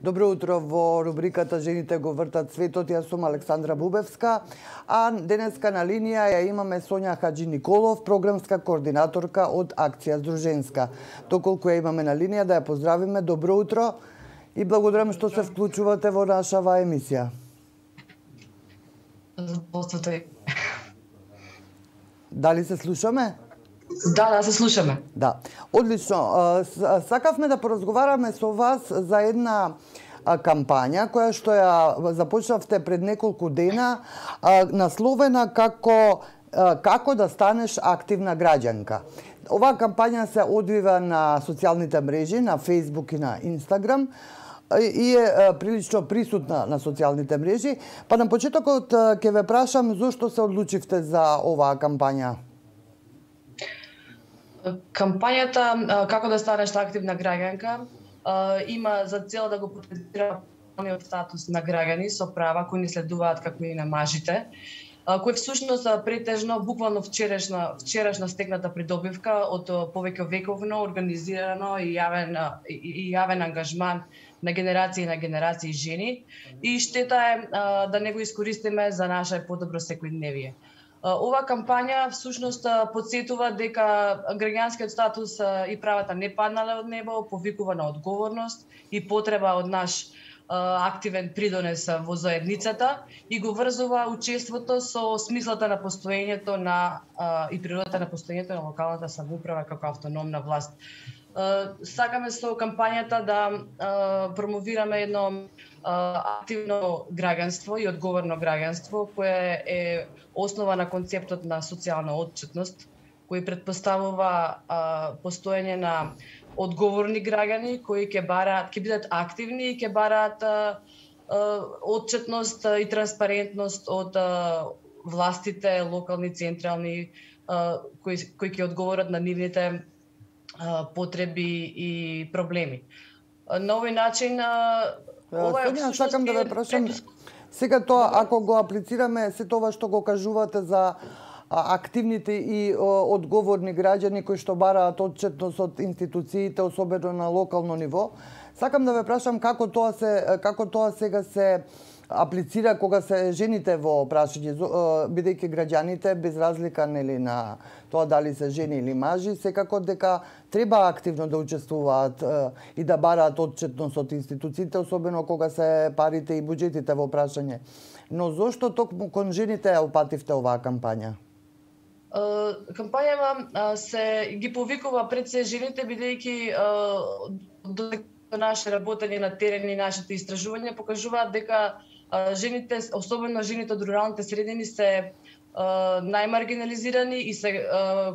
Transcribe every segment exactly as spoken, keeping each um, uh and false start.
Добро утро во рубриката Жените го вртат светот. Јас сум Александра Бубевска, а денеска на линија ја имаме Сонја Хаджи Николов, програмска координаторка од Акција Здруженска. Доколку ја имаме на линија, да ја поздравиме. Добро утро и благодарам што се вклучувате во нашава емисија. Дали се слушаме? Да, да, се слушаме. Да. Одлично. Сакавме да поразговараме со вас за една кампања која што ја започнавте пред неколку дена, насловена како како да станеш активна граѓанка. Оваа кампања се одвива на социјалните мрежи, на Facebook и на Instagram, и е прилично присутна на социјалните мрежи. Па на почетокот ќе ве прашам зошто се одлучивте за оваа кампања? Кампањата "Како да станеш активна граѓанка" има за цел да го потенцира правниот статус на граѓани со права кои ни следуваат како и на мажите, кој всушност претежно буквално вчерашна вчерашна стегната придобивка од повеќе вековно организирано и јавен и јавен ангажман на генерации и на генерации жени, и штета е да не го искористиме за наше подобро секојдневие. Ова кампања всушност подсетува дека граѓанскиот статус и правата не паднале од небо, повикува на одговорност и потреба од наш активен придонес во заедницата и го врзува учеството со смислата на постоењето на и природата на постоењето на локалната самоуправа како автономна власт. Сакаме со кампањата да промовираме едно активно граѓанство и одговорно граѓанство кое е основа на концептот на социјална отчетност, кој претпоставува постоење на одговорни граѓани кои ќе бараат, ќе бидат активни и ќе бараат отчетност и транспарентност од властите, локални, централни, кои кои ќе одговорат на нивните потреби и проблеми. На овој начин ова е всушност сакам да ве прашам сега тоа, ако го аплицираме се тоа што го кажувате за активните и одговорни граѓани кои што бараат отчетност од институциите, особено на локално ниво, сакам да ве прашам како тоа се како тоа сега се аплицира кога се жените во прашање, бидејќи граѓаните без разлика нели на тоа дали се жени или мажи, секако дека треба активно да учествуваат и да бараат отчетност од институциите, особено кога се парите и буџетите во прашање. Но зошто токму кон жените ја опативте оваа кампања? Кампањава се ги повикува пред се жените, бидејќи додека наше работење на терен и нашите истражувања покажуваат дека жените, особено жените од руралните средини, се најмаргинализирани и се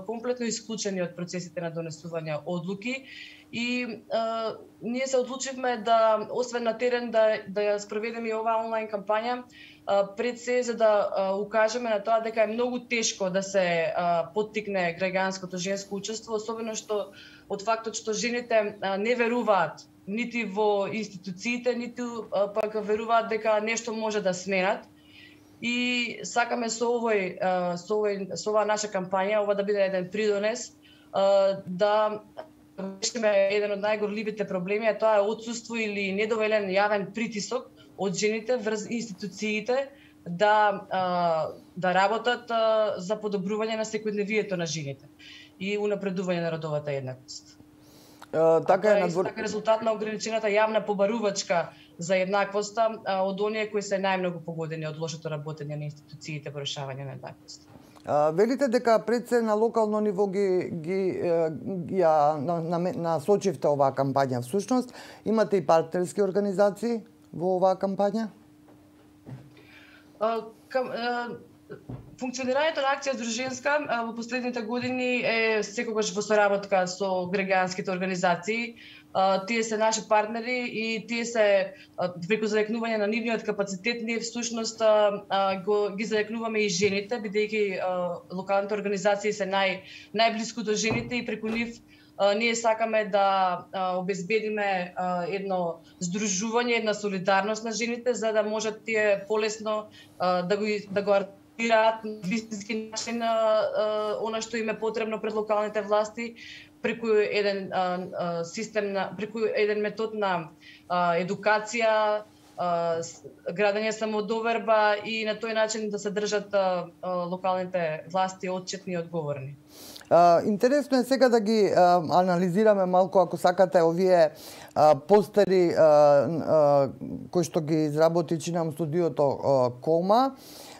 комплетно исклучени од процесите на донесување одлуки. И а, ние се одлучивме да, освен на терен, да, да ја спроведеме и оваа онлайн кампања, а, пред се за да а, укажеме на тоа дека е многу тешко да се а, поттикне граѓанското женско учество, особено што од фактот што жените а, не веруваат нити во институциите, ниту а, пак веруваат дека нешто може да сменат. И сакаме со овој со овој со оваа наша кампања, ова да биде еден придонес да решиме еден од најгорливите проблеми, а тоа е отсуство или недоволен јавен притисок од жените врз институциите да да работат за подобрување на секојдневието на жените и унапредување на родовата еднаквост. Uh, така е надвор... така резултат на ограничената јавна побарувачка за еднаквоста од оние кои се најмногу погодени од лошото работење на институциите во решавање на еднаквост. Uh, велите дека пред се на локално ниво ги ги ја на, на, насочивте оваа кампања. Всушност имате и партнерски организации во оваа кампања? Uh, кам, uh... Функционирањето на Акција Здруженска во последните години е секогаш во соработка со граѓанските организации. Тие се наши партнери и тие се преку зајакнување на нивниот капацитет, ние всушност го ги зајакнуваме и жените, бидејќи локалните организации се нај најблиску до жените и преку нив ние сакаме да обезбедиме едно здружување, една солидарност на жените за да можат тие полесно да го да го на вистински начин она што им е потребно пред локалните власти, преку еден а, а, систем на преку еден метод на а, едукација, а, градење самодоверба и на тој начин да се држат а, а, локалните власти отчетни и одговорни. Uh, интересно е сега да ги uh, анализираме малку, ако сакате, овие uh, постери uh, uh, кои што ги изработи, чинам, студиото uh, Кома.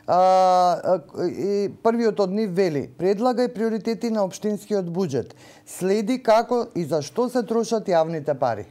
Uh, uh, и првиот од нив вели: предлагај приоритети на општинскиот буџет. Следи како и за што се трошат јавните пари.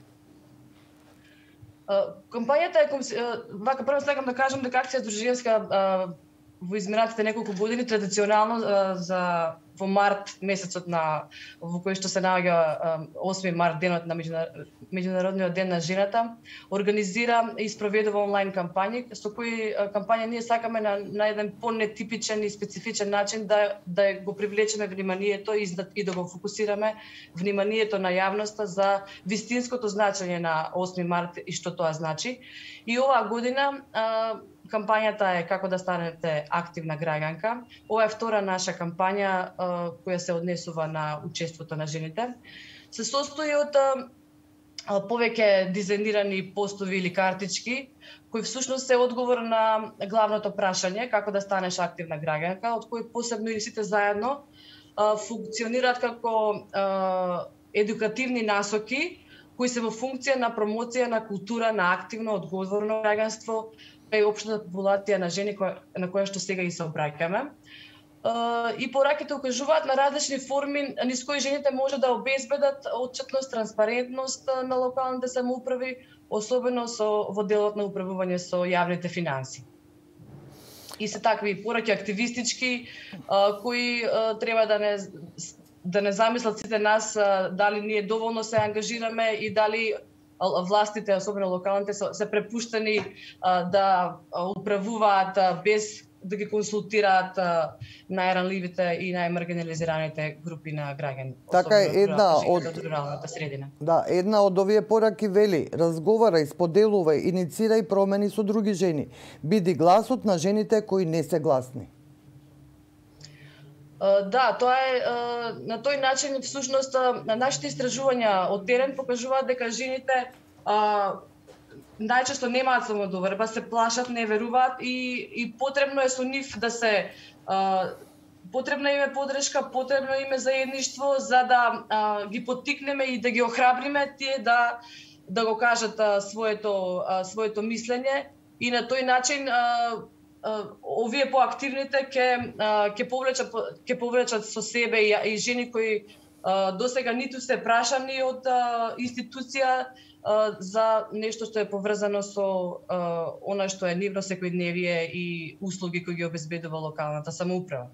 Uh, кампањата е uh, вака прво сакам да кажам дека акција Дружинска uh, во изминатите неколку години традиционално uh, за во март месецот на во кој што се наоѓа осми март, денот на меѓународниот ден на жената, организира и спроведува онлайн кампањи со кои кампања ние сакаме на, на еден понетипичен и специфичен начин да да го привлечеме вниманието и да, и да го фокусираме вниманието на јавноста за вистинското значење на осми март и што тоа значи. И оваа година а, кампањата е како да станете активна граѓанка. Ова е втора наша кампања а, која се однесува на учеството на жените. Се состои од а, повеќе дизајнирани постови или картички, кои всушност се одговор на главното прашање како да станеш активна граѓанка, од кои посебно и сите заедно а, функционираат како а, едукативни насоки кои се во функција на промоција на култура на активно одговорно граѓанство и општата популација на жени на која што сега и се обраќаме. И пораките укажуваат на различни форми низ кои жените може да обезбедат отчетност, транспарентност на локалните самоуправи, особено со во делот на управување со јавните финанси. И се такви пораки активистички кои треба да не да не замислат сите нас дали ние доволно се ангажираме и дали властите, особено локалните, се препуштени да управуваат без да ги консултираат најранливите и најмаргинализираните групи на граѓани. Така е, една од руралната средина. Да, една од овие пораки вели: разговарај, споделувај, иницирај промени со други жени. Биди гласот на жените кои не се гласни. Да, тоа е на тој начин всушност нашите истражувања од терен покажуваат дека жените а, најчесто немаат самодоверба, се плашат, не веруваат и, и потребно е со нив да се а, потребна им е подршка, потребно им е заедништво за да а, ги поттикнеме и да ги охрабриме тие да да го кажат а, своето а, своето мислење и на тој начин а, овие поактивните ќе ќе повлечат ќе повлечат со себе и, и жени кои досега ниту се прашани од а, институција а, за нешто што е поврзано со а, она што е нивно секојдневие и услуги кои ги обезбедува локалната самоуправа.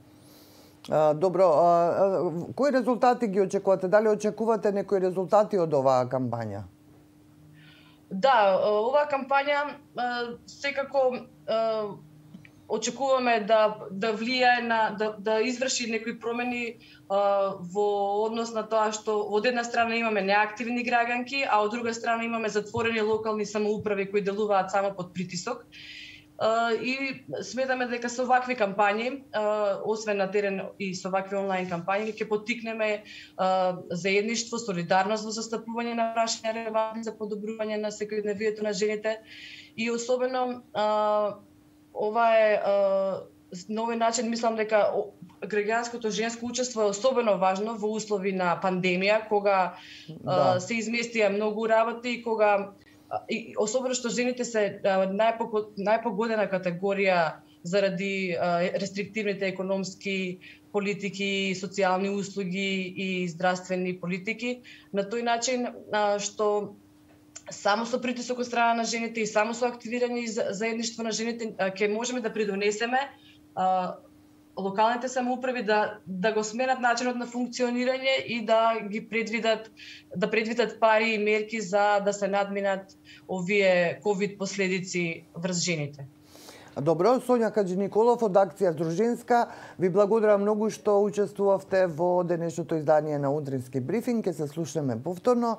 А, добро, а, а, кои резултати ги очекувате? Дали очекувате некои резултати од оваа кампања? Да, оваа кампања а, секако а, очекуваме да да влијае на да да изврши некои промени а, во однос на тоа што од една страна имаме неактивни граѓанки, а од друга страна имаме затворени локални самоуправи кои делуваат само под притисок. А, и сметаме дека со вакви кампањи, а, освен на терен и со вакви онлайн кампањи, ќе поттикнеме а, заедништво, солидарност во застапување на прашања релевантни за подобрување на секојдневието на жените и особено а, ова е на овој начин мислам дека граѓанското женско учество е особено важно во услови на пандемија, кога да. се изместија многу работи и кога и особено што жените се најпогодена категорија заради рестриктивните економски политики, социјални услуги и здравствени политики, на тој начин што само со притисок од страна на жените и само со активирање и заедништво на жените ќе можеме да придонесеме а, локалните самоуправи да да го сменат начинот на функционирање и да ги предвидат да предвидат пари и мерки за да се надминат овие ковид последици врз жените. Добро, Сонја Каџи-Николов од акција Дружинска, ви благодарам многу што учествувавте во денешното издание на Утрински брифинг. Ќе се слушнеме повторно.